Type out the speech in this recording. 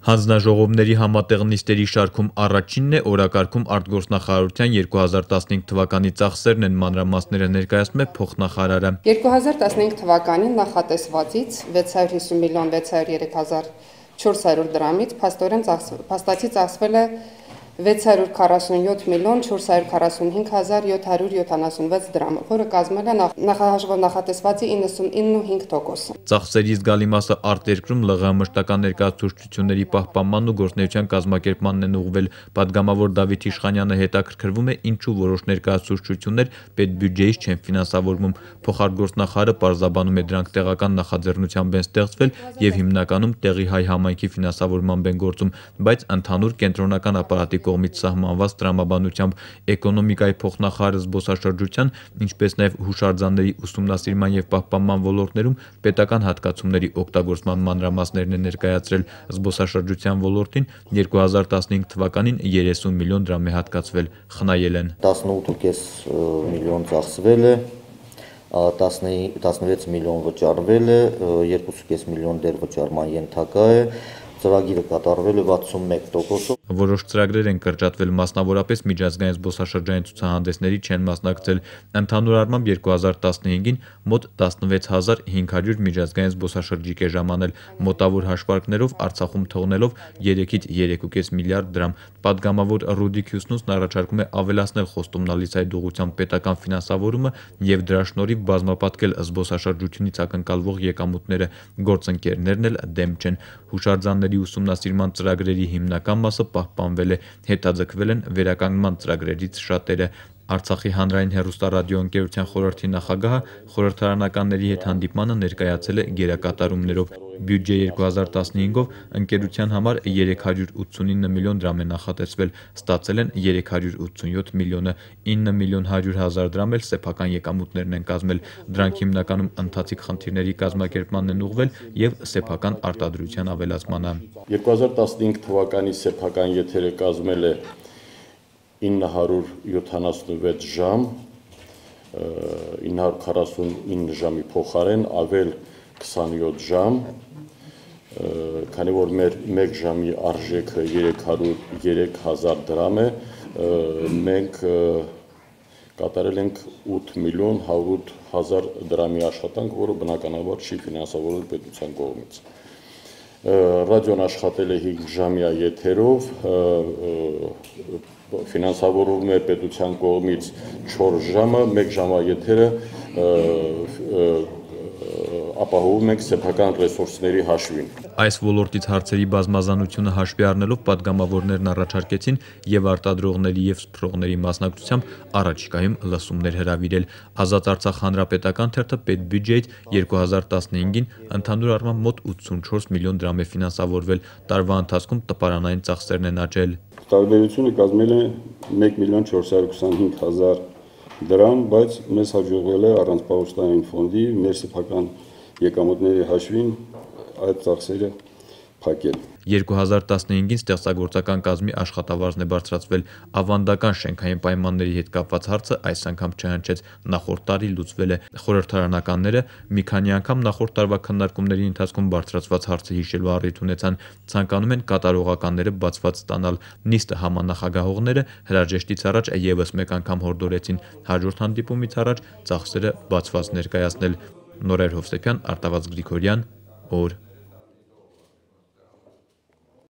Հանձնաժողովների համատեղ նիստերի շարքում առաջինն է օրակարգում արտգործնախարարության 2015 թվականի ծախսերն են, մանրամասները ներկայացնում է փոխնախարարը։ 2015 թվականին նախատեսվածից 650 միլիոն 603,400 դրամից փաստացի ծախսվել է 647 միլիոն 445,776 դրամ, որը կազմել է նախահաշվով նախատեսվածի 99.5%։ Ծախսերի զգալի մասը արտերկրում ԼՂՀ մշտական ներկայացուցչությունների պահպանման ու գործունեության կազմակերպմանն են ուղղվել։ Պատգամավոր Դավիթ Իշխանյանը հետաքրքրվում է, ինչու որոշ ներկայացուցչություններ պետբյուջեից չեն ֆինանսավորվում։ Փոխարտգործնախարարը պարզաբանում է, դրանք տեղական նախաձեռնությամբ են ստեղծվել եւ հիմնականում տեղի հայ համայնքի ֆինանսավորմամբ են գործում, բայց ընդհանուր կենտրոնական ապարատի կողմից սահմանված տրամաբանությամբ էկոնոմիկայի փոխնախարարը զբոսաշրջության, ինչպես նաև հուշարձանների ուսումնասիրման եւ պահպանման ոլորտներում պետական հատկացումների օգտագործման մանրամասներն է ներկայացրել։ Զբոսաշրջության ոլորտին 2015 թվականին 30 միլիոն դրամ է հատկացվել, խնայել են։ 18.5 միլիոն ծախսվել է, 16 միլիոն վճարվել է, 2.5 միլիոն դեռ վճարման ենթակա է, ծրագիրը կատարվել է 61%-ով։ Որոշ ծրագրեր են կրճատվել, մասնավորապես միջազգային զբոսաշրջային ցուցահանդեսների չեն մասնակցել։ Ընդհանուր առմամբ 2015-ին մոտ 16500 միջազգային զբոսաշրջիկ է ժամանել, մոտավոր հաշվարկներով Արցախում թողնելով 3-ից 3.5 միլիարդ դրամ։ Պատգամավոր Ռուդիկ Հյուսնուսն առաջարկում է ավելացնել խոստումնալից այդ ուղղությամբ պետական ֆինանսավորումը եւ դրա շնորհիվ բազմապատկել զբոսաշրջությունից ակնկալվող եկամուտները։ Գործընկերներն էլ դեմ չեն։ Հուշարձանների ուսումնասիրման ծրագրերի հիմնական մասը պահպանվել է, հետաձգվել են վերականգնման ծրագրերից շատերը։ Արցախի հանրային հեռուստառադիոընկերության խորհրդի նախագահը խորհրդարանականների հետ հանդիպմանը ներկայացել է գերակատարումներով։ Բյուջե 2015-ով ընկերության համար 389 միլիոն դրամ է նախատեսվել, ստացել են 387 միլիոնը, 9 միլիոն 100,000 դրամ էլ սեփական եկամուտներն են կազմել։ Դրանք հիմնականում ընթացիկ խնդիրների կազմակերպմանն են ուղղվել եւ սեփական արտադրության ավելացմանը։ 2015 թվականի սեփական եթերը կազմել է 976 ժամ, 949 ժամի փոխարեն ավել 27 ժամ, քանի որ մեր 1 ժամի արժեքը 303,000 դրամ է, մենք կատարել ենք 8 միլիոն 100,000 դրամի աշխատանք, որը բնականաբար չի ֆինանսավորվել պետության կողմից։ Ռադիոն աշխատել է 5 ժամյա եթերով, ֆինանսավորվում է պետության կողմից 4 ժամը, 1 ժամյա եթերը ապահովում ենք սեփական ռեսուրսների հաշվին։ Այս ոլորտից հարցերի բազմազանությունը հաշվի առնելով պատգամավորներն առաջարկեցին եւ արտադրողների եւ սփռողների մասնակցությամբ առաջիկայում լսումներ հրավիրել։ Ազատ Արցախ հանրապետական թերթը պետբյուջեից 2015-ին ընդհանուր առմամբ մոտ 84 միլիոն դրամ է ֆինանսավորվել, տարվա ընթացքում տպարանային ծախսերն են աճել։ Տարբերությունը կազմել է 1 միլիոն 425,000 դրամ, բայց մեզ հաջողվել է առանց պահոստային ֆոնդի մեր սեփական եկամուտների հաշվին այդ ծախսերը փակել։ 2015-ին ստեղծագործական կազմի աշխատավարձն է բարձրացվել։ Ավանդական շենքային պայմանների հետ կապված հարցը այս անգամ չհնչեց, նախորդ տարի լուծվել է։ Խորհրդարանականները մի քանի անգամ նախորդ տարվա քննարկումների ընթացքում բարձրացված հարցը հիշելու առիթ ունեցան, ցանկանում են կատարողականները բացված ստանալ։ Նիստը համանախագահողները հրաժեշտից առաջ եւս մեկ անգամ հորդորեցին հաջորդ հանդիպումից առաջ ծախսերը բացված ներկայացնել։ Նորայր Հովսեփյան, Արտավազդ Գրիգորյան, օր